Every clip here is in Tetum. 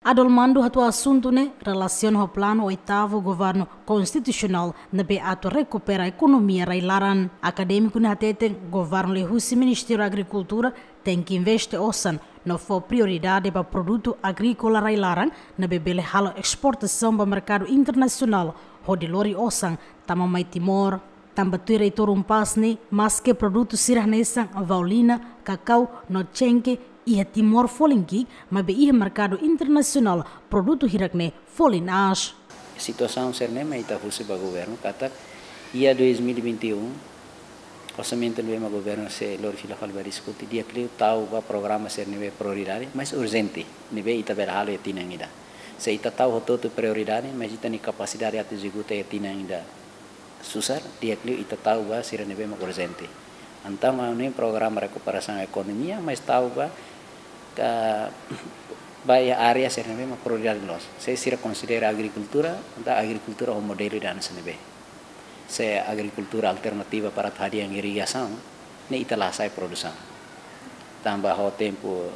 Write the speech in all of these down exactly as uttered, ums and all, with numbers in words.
Adolmando hato'o asuntu ne'e relasiona ho planu oitavu governu konstitusionál ne'ebé atu rekupera ekonomia rai-laran. Akadémiku ne'e hateten governu liuhusi Ministériu Agrikultura tenke investe osan no fó prioridade ba produtu agríkola rai-laran ne'ebé bele halo esportasaun ba merkadu internasionál hodi lori osan tama mai Timor. Tanba tuir Reitór UNPAZ ne'e, maske produtu sira hanesan vaulina, kakau no xenke iha Timor folin ki'ik, maibé iha merkadu internasionál produtu hirak-ne'e folin aas. Situasaun sira-ne'e mak ita husu ba governu katak iha dois mil e vinte e um, orsamentu ne'ebé mak governu sei lori fila fali ba diskute, di'ak liu tau ba programa sira ne'ebé prioridade, mais urjente, ne'ebé ita bele halo iha tinan ida. Se ita tau hotu-hotu prioridade, mais ita-nia kapasidade atu ezekuta iha tinan ida susar, di'ak liu ita tau ba sira ne'ebé mak urjente. Entaun ha'u hanoin programa rekuperasaun ekonomia, mais tau ba ka ba iha área sira ne'ebé mak prioridade loos. Se sira konsidera agrikultura, entaun agrikultura ho modelu ida hanesan ne'ebé. Se agrikultura alternativa para atu hadi'a irrigasaun, ne'e ita la hasa'e produsaun. Tanba ho tempu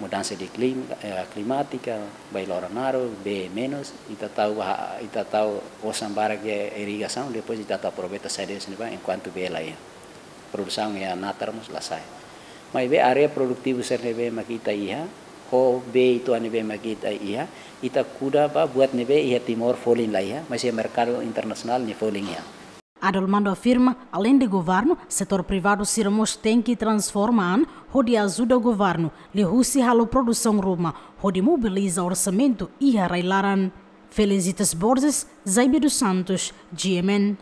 mudansa de klima, eh, klimátika, bee loron naruk, bee menus, ita tau ba, ita tau osan barak iha irrigasaun, depois ita tau aproveita saida hanesan ne'ebá, enkuantu bee la iha. Produsaun iha natar mós la sa'e. Maibé área produtivu sira ne'ebé mak ita iha, ho bee uitoan ne'ebé mak ita iha, ita kuda ba buat ne'ebé iha Timor folin la iha, mais iha merkadu internasionál nia folin iha. Adolmando afirma, aleinde governu, setór privadu sira mós tenke transforma an hodi ajuda governu liuhusi halo produsaun ruma hodi mobiliza orsamentu iha rai-laran. Felicitas Borges, Jaime dos Santos, G M N.